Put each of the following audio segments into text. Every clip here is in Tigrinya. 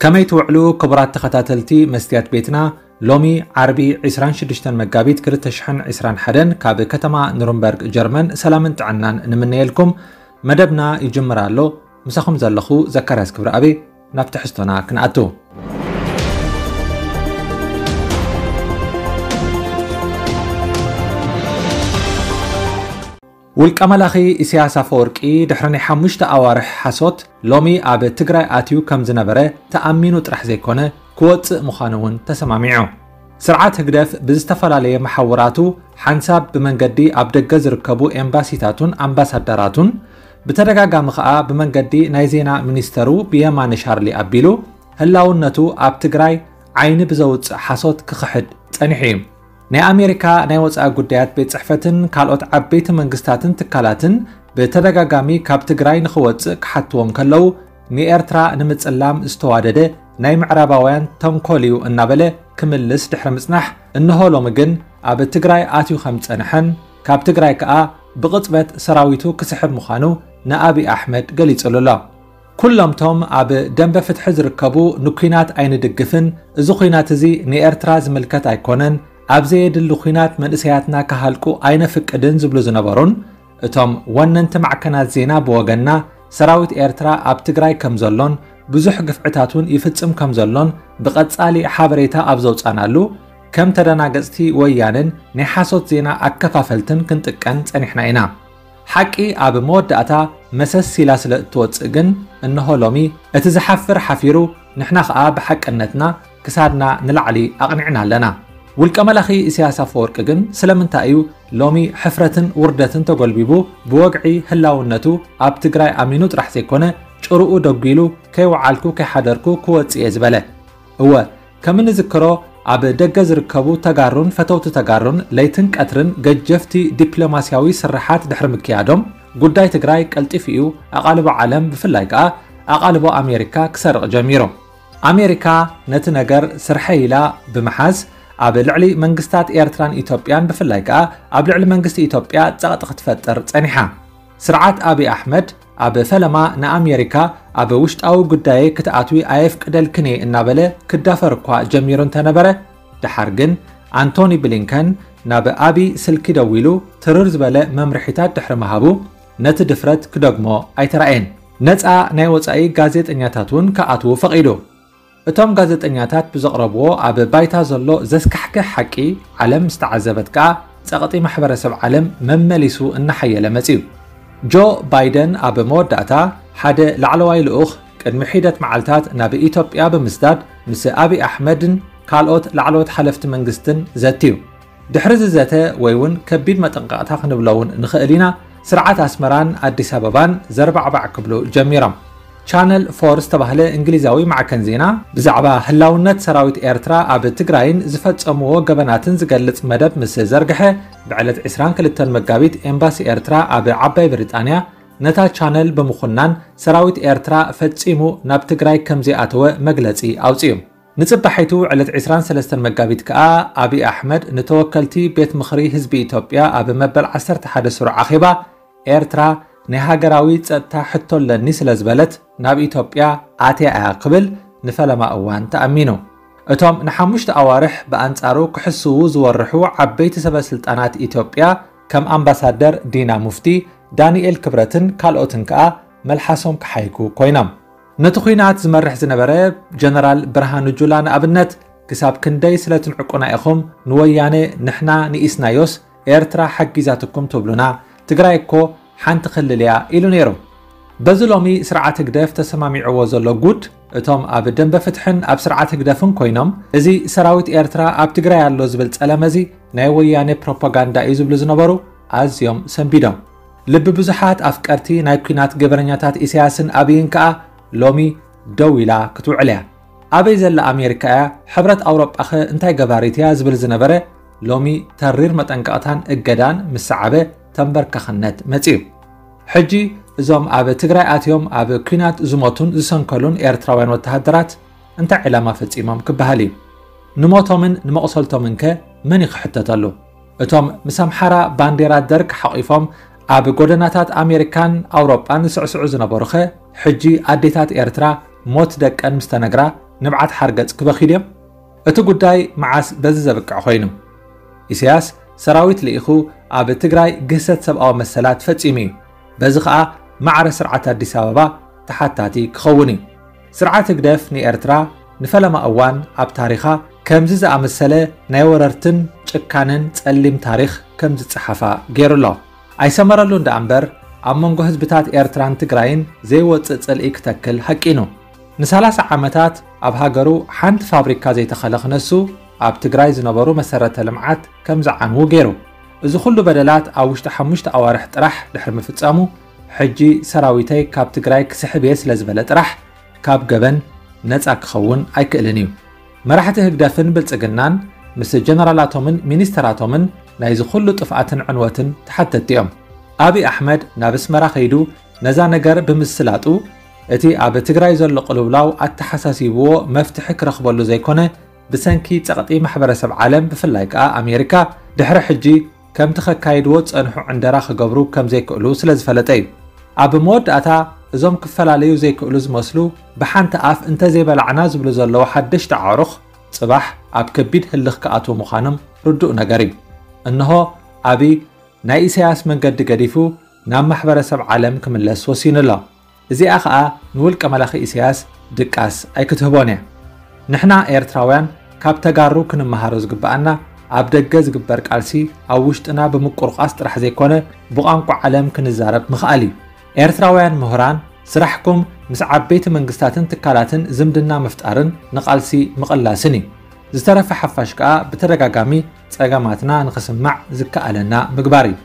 ከመይ ትውዕሉ ክቡራት ተኸታተልቲ መስትያት ቤትና? ሎሚ ዓርቢ ዕስራን ሽዱሽተን መጋቢት ክልተ ሽሕን ዕስራን ሓደን ካብ ከተማ ኑርንበርግ ጀርመን ሰላምን ጥዕናን ንምነየልኩም። መደብና ይጅምር ኣሎ። ምሳኹም ዘለኹ ዘካርያስ ክብረኣብ። ናብ ትሕዝቶና ክንኣቱ። ውልቀ መላኺ ኢሳያስ ኣፈወርቂ ድሕሪ ናይ ሓሙሽተ ኣዋርሕ ሓሶት ሎሚ ኣብ ትግራይ ኣትዩ ከም ዝነበረ ተኣሚኑ ጥራሕ ዘይኮነ ክወፅእ ምዃኑ እውን ተሰማሚዑ። ስርዓት ህግደፍ ብዝተፈላለየ መሓውራቱ ሓንሳብ ብመንገዲ ኣብ ደገ ዝርከቡ ኤምባሲታቱን ኣምባሳደራቱን ብተደጋጋሚ ኸኣ ብመንገዲ ናይ ዜና ሚኒስተሩ ብየማነ ሻርሊ ኣቢሉ ህላውነቱ ኣብ ትግራይ ዓይኒ ብዘውፅእ ሓሶት ክኽሕድ ጸኒሑ እዩ። ናይ ኣሜሪካ ናይ ወፃኢ ጉዳያት ቤት ጽሕፈትን ካልኦት ዓበይቲ መንግስታትን ትካላትን ብተደጋጋሚ ካብ ትግራይ ንኽወፅእ ክሓትዎም ከለዉ ንኤርትራ ንምጽላም ዝተዋደደ ናይ ምዕራባውያን ተንኮል እዩ እናበለ ክምልስ ድሕሪ ምጽናሕ፣ እንሆ ሎሚ ግን ኣብ ትግራይ ኣትዩ ከም ዝጸንሐን ካብ ትግራይ ከኣ ብቕጽበት ሰራዊቱ ክስሕብ ምዃኑ ንኣብይ ኣሕመድ ገሊጹሉ ኣሎ። ኩሎምቶም ኣብ ደንበ ፍትሒ ዝርከቡ ንኲናት ኣይንድግፍን፣ እዚ ኲናት እዚ ንኤርትራ ዝምልከት ኣይኮነን፣ ኣብ ዘየድሊ ኲናት መንእሰያትና ክሃልቁ ኣይነፍቅድን ዝብሉ ዝነበሩን፣ እቶም ወነንቲ ማዕከናት ዜና ብወገንና ሰራዊት ኤርትራ ኣብ ትግራይ ከም ዘሎን ብዙሕ ግፍዕታት እውን ይፍጽም ከም ዘሎን ብቐጻሊ ሓበሬታ ኣብ ዘውጻናሉ፣ ከም ተደናገጽቲ ወያንን ናይ ሓሶት ዜና ኣከፋፈልትን ክንጥቀን ጸኒሕና ኢና። ሓቂ ኣብ መወዳእታ መሰስ ኢላ ስለ እትወጽእ ግን፣ እንሆ ሎሚ እቲ ዝሓፍር ሓፊሩ፣ ንሕና ኸኣ ብሓቅነትና ክሳድና ንላዕሊ ኣቕኒዕና ኣለና። ውልቀ መላኺ ኢሳያስ ኣፈወርቂ ግን ስለምንታይ እዩ ሎሚ ሕፍረትን ውርደትን ተጎልቢቡ ብወግዒ ህላውነቱ ኣብ ትግራይ ኣሚኑ ጥራሕ ዘይኮነ ጭርኡ ደጒሉ ከይወዓልኩ ከይሓደርኩ ክወጽእ እየ ዝበለ? እወ፣ ከም እንዝክሮ ኣብ ደገ ዝርከቡ ተጋሩን ፈተውቲ ተጋሩን ለይትን ቀትርን ገጀፍቲ ዲፕሎማስያዊ ስርሓት ድሕሪ ምክያዶም ጉዳይ ትግራይ ቀልጢፉ እዩ ኣቓልቦ ዓለም ብፍላይ ከኣ ኣቓልቦ ኣሜሪካ ክሰርቕ ጀሚሩ። ኣሜሪካ ነቲ ነገር ስርሐይ ኢላ ብምሓዝ ኣብ ልዕሊ መንግስታት ኤርትራን ኢትዮጵያን ብፍላይ ከኣ ኣብ ልዕሊ መንግስቲ ኢትዮጵያ ጸቕጢ ክትፈጥር ጸኒሓ። ስርዓት ኣብይ ኣሕመድ ኣብ ፈለማ ንኣሜሪካ ኣብ ውሽጣዊ ጉዳየይ ክትኣትዊ ኣየፍቅደልክን እየ እናበለ ክዳፈር እኳ ጀሚሩ እንተነበረ፣ ደሓር ግን ኣንቶኒ ብሊንከን ናብ ኣብይ ስልኪ ደዊሉ ትርር ዝበለ መምርሒታት ድሕሪ ምሃቡ ነቲ ድፍረት ክደግሞ ኣይተራእየን። ነጻ ናይ ወጻኢ ጋዜጠኛታት እውን ክኣትዉ ፈቒዱ። እቶም ጋዜጠኛታት ብዘቕረብዎ ኣብ ባይታ ዘሎ ዘስካሕክሕ ሓቂ ዓለም ዝተዓዘበት ከኣ ጸቕጢ ማሕበረሰብ ዓለም መመሊሱ እናሓየለ መጺኡ። ጆ ባይደን ኣብ መወዳእታ ሓደ ላዕለዋይ ልኡኽ ቅድሚ ሒደት መዓልታት ናብ ኢትዮጵያ ብምስዳድ ምስ ኣብይ ኣሕመድን ካልኦት ላዕለዎት ሓለፍቲ መንግስትን ዘትዩ። ድሕሪ ዝዘተ ወይ እውን ከቢድ መጠንቀቕታ ክንብሎ እውን ንኽእል ኢና፣ ስርዓት ኣስመራን ኣዲስ ኣበባን ዘርባዕባዕ ክብሉ ጀሚሮም። ቻነል ፎር ዝተባህለ እንግሊዛዊ ማዕከን ዜና ብዛዕባ ህላውነት ሰራዊት ኤርትራ ኣብ ትግራይን ዝፈጸምዎ ገበናትን ዝገልጽ መደብ ምስ ዘርግሐ፣ ብዕለት ዕስራን ክልተን መጋቢት ኤምባሲ ኤርትራ ኣብ ዓባይ ብሪጣንያ ነታ ቻነል ብምኹናን ሰራዊት ኤርትራ ፈጺሙ ናብ ትግራይ ከም ዘይኣተወ መግለጺ ኣውጺኡ። ንጽባሒቱ ዕለት ዕስራን ሰለስተን መጋቢት ከኣ ኣብይ ኣሕመድ ንተወከልቲ ቤት ምኽሪ ህዝቢ ኢትዮጵያ ኣብ መበል ዓሰርተ ሓደ ስሩዕ ኣኼባ ኤርትራ ናይ ሃገራዊ ጸጥታ ሕቶ ኣለኒ ስለ ዝበለት ናብ ኢትዮጵያ ኣትያ እያ ክብል ንፈለማ እዋን ተኣሚኑ። እቶም ንሓሙሽተ ኣዋርሕ ብኣንጻሩ ክሕስዉ ዝወርሑ ዓበይቲ ሰበ ስልጣናት ኢትዮጵያ ከም ኣምባሳደር ዲና ሙፍቲ፣ ዳንኤል ክብረትን ካልኦትን ከኣ መልሓሶም ክሓይኩ ኮይኖም። ነቲ ኲናት ዝመርሕ ዝነበረ ጀነራል ብርሃኑ ጁላ ንኣብነት፣ ክሳብ ክንደይ ስለ ትንዕቁና ኢኹም ንወያነ ንሕና ንኢስናዮስ ኤርትራ ሓጊዛትኩም ትብሉና? ትግራይ እኮ ሓንቲ ክልል እያ ኢሉ ነይሩ። በዚ ሎሚ ስርዓት ህግደፍ ተሰማሚዕዎ ዘሎ ጉድ፣ እቶም ኣብ ደንበ ፍትሕን ኣብ ስርዓት ህግደፍን ኮይኖም፣ እዚ ሰራዊት ኤርትራ ኣብ ትግራይ ኣሎ ዝብል ጸለመ እዚ ናይ ወያነ ፕሮፓጋንዳ እዩ ዝብሉ ዝነበሩ ኣዝዮም ሰንቢዶም። ልቢ ብዙሓት ኣፍቀርቲ ናይ ኲናት ገበነኛታት ኢሳያስን ኣብይን ከኣ ሎሚ ደው ኢላ ክትውዕል እያ። ኣበይ ዘላ ኣሜሪካ እያ? ሕብረት ኣውሮጳኸ እንታይ ገባሪት እያ? ዝብል ዝነበረ ሎሚ ተሪር መጠንቀቕታን እገዳን ምስ ሰዓበ ተንበርካኽነት መጺኡ። ሕጂ እዞም ኣብ ትግራይ ኣትዮም ኣብ ኲናት ዝሞቱን ዝሰንከሉን ኤርትራውያን ወተሃደራት እንታይ ዕላማ ፈጺሞም ክበሃል እዩ? ንሞቶምን ንመቑሰልቶምን ከ መን እዩ ክሕተተሉ? እቶም ምስ ኣምሓራ ባንዴራ ደርግ ሓቒፎም ኣብ ጎደናታት ኣሜሪካን ኣውሮጳን ዝስዕስዑ ዝነበሩኸ ሕጂ ኣዴታት ኤርትራ ሞት ደቀን ምስ ተነግራ ንብዓት ሓርገጽ ክበኽዩ ድዮም? እቲ ጉዳይ መዓስ በዚ ዘብቅዕ ኮይኑ? ኢሳያስ ሰራዊት ልኢኹ ኣብ ትግራይ ግህሰት ሰብኣዊ መሰላት ፈጺሙ እዩ። በዚ ኸኣ ማዕረ ስርዓት ኣዲስ ኣበባ ተሓታቲ ክኸውን እዩ። ስርዓት ህግደፍ ንኤርትራ ንፈለማ እዋን ኣብ ታሪኻ ከምዚ ዝኣመሰለ ናይ ወረርትን ጭካነን ጸሊም ታሪኽ ከም ዝጸሓፋ ገይሩ ኣሎ። ኣይሰመረሉን ደኣ እምበር ኣብ መንጎ ህዝብታት ኤርትራን ትግራይን ዘይወጽእ ጽልኢ ክተክል ሃቂኑ። ንሳላሳ ዓመታት ኣብ ሃገሩ ሓንቲ ፋብሪካ ዘይተኸለ ክነሱ ኣብ ትግራይ ዝነበሩ መሰረተ ልምዓት ከም ዝዓንዉ ገይሩ። እዚ ኩሉ በደላት ኣብ ውሽጢ ሓሙሽተ ኣዋርሕ ጥራሕ ድሕሪ ምፍጻሙ ሕጂ ሰራዊተይ ካብ ትግራይ ክስሕብ እየ ስለ ዝበለ ጥራሕ ካብ ገበን ነጻ ክኸውን ኣይክእልን እዩ። መራሕቲ ህግደፍን ብልጽግናን ምስ ጀነራላቶምን ሚኒስተራቶምን ናይዚ ኩሉ ጥፍኣትን ዕንወትን ተሓተትቲ እዮም። ኣብይ ኣሕመድ ናብ ኣስመራ ከይዱ ነዛ ነገር ብምስላጡ እቲ ኣብ ትግራይ ዘሎ ቅልውላው ኣተሓሳሲብዎ መፍትሒ ክረኽበሉ ዘይኮነ ብሰንኪ ጸቕጢ ማሕበረሰብ ዓለም ብፍላይ ከኣ ኣሜሪካ ድሕሪ ሕጂ ከምቲ ከካይድዎ ዝጸንሑ ዕንደራ ክገብሩ ከም ዘይክእሉ ስለ ዝፈለጠ እዩ። ኣብ መወዳእታ እዞም ክፈላለዩ ዘይክእሉ ዝመስሉ ብሓንቲ ኣፍ እንተዘይበላዕና ዝብሉ ዘለዉ ሓደሽቲ ኣዕሩኽ ጽባሕ ኣብ ከቢድ ህልኽ ክኣትዉ ምዃኖም ርዱእ ነገር እዩ። እንሆ ኣብይ ናይ ኢሳያስ መንገዲ ገዲፉ ናብ ማሕበረሰብ ዓለም ክምለስ ወሲኑ ኣሎ። እዚኣ ኸኣ ንውልቀ መላኺ ኢሳያስ ድቃስ ኣይክትህቦን እያ። ንሕና ኤርትራውያን ካብ ተጋሩ ክንመሃሮ ዝግብኣና ኣብ ደገ ዝግበር ቃልሲ ኣብ ውሽጥና ብምቁርቋስ ጥራሕ ዘይኮነ ብቋንቋ ዓለም ክንዛረብ ምኽኣል እዩ። ኤርትራውያን ምሁራን ስራሕኩም ምስ ዓበይቲ መንግስታትን ትካላትን ዝምድና ምፍጣርን ንቃልሲ ምቕላስን እዩ። ዝተረፈ ሓፋሽ ከኣ ብተደጋጋሚ ጸገማትና ንኽስማዕ ዝከኣለና ምግባር እዩ።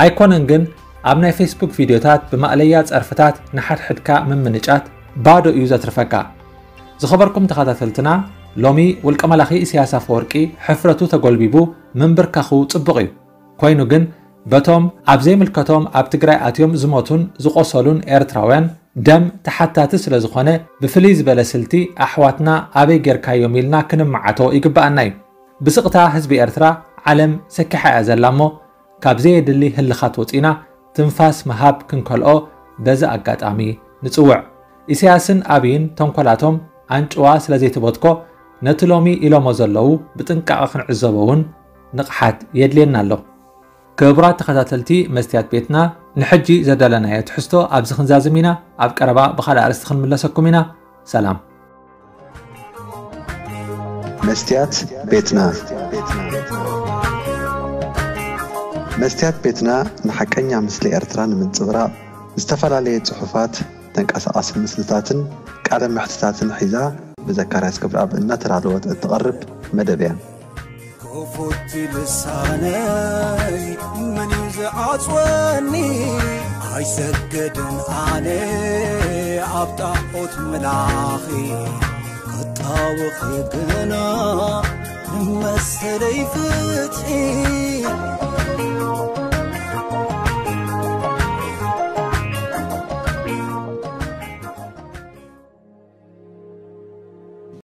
ኣይኮነን ግን ኣብ ናይ ፌስቡክ ቪድዮታት ብማእለያ ጸርፍታት ንሓድሕድካ ምምንጫት ባዶ እዩ ዘትርፈካ። ዝኸበርኩም ተኸታተልትና ሎሚ ውልቀ መላኺ ኢሳያስ ኣፈወርቂ ሕፍረቱ ተጎልቢቡ ምንብርካኹ ጽቡቕ እዩ። ኮይኑ ግን በቶም ኣብ ዘይምልከቶም ኣብ ትግራይ ኣትዮም ዝሞቱን ዝቖሰሉን ኤርትራውያን ደም ተሓታቲ ስለ ዝኾነ ብፍልይ ዝበለ ስልቲ ኣሕዋትና ኣበይ ጌርካዮም ኢልና ክንመዓቶ ይግብኣና እዩ። ብስቕታ ህዝቢ ኤርትራ ዓለም ሰኪሓ እያ ዘላ እሞ ካብ ዘየድሊ ህልኻት ወፂና ትንፋስ ምሃብ ክንከልኦ በዚ ኣጋጣሚ ንፅውዕ። ኢሳያስን ኣብይን ተንኮላቶም ኣንጭዋ ስለ ዘይትበትኮ ነቲ ሎሚ ኢሎሞ ዘለዉ ብጥንቃቐ ክንዕዘቦ እውን ንቕሓት የድልየና ኣሎ። ክቡራት ተኸታተልቲ መስትያት ቤትና ንሕጂ ዘዳለናዮ ትሕዝቶ ኣብዚ ክንዛዝም ኢና። ኣብ ቀረባ ብኻልእ ኣርእስቲ ክንምለሰኩም ኢና። ሰላም። መስትያት ቤትና መስትያት ቤትና ንሓቀኛ ምስሊ ኤርትራ ንምንጽብራቕ ዝተፈላለየ ጽሑፋት፣ ተንቀሳቓሲ ምስልታትን ቃለ መሕትታትን ሒዛ ብዘካርያስ ክብረኣብ እናተዳለወት እትቐርብ መደብ እያ። ክፉት ልሳነይ መን እዩ ዝዓጽወኒ? ኣይሰግድን ኣነ ኣብ ጣዖት ምላኺ ክጣወኺ ግና ንመሰለይ ፍትሒ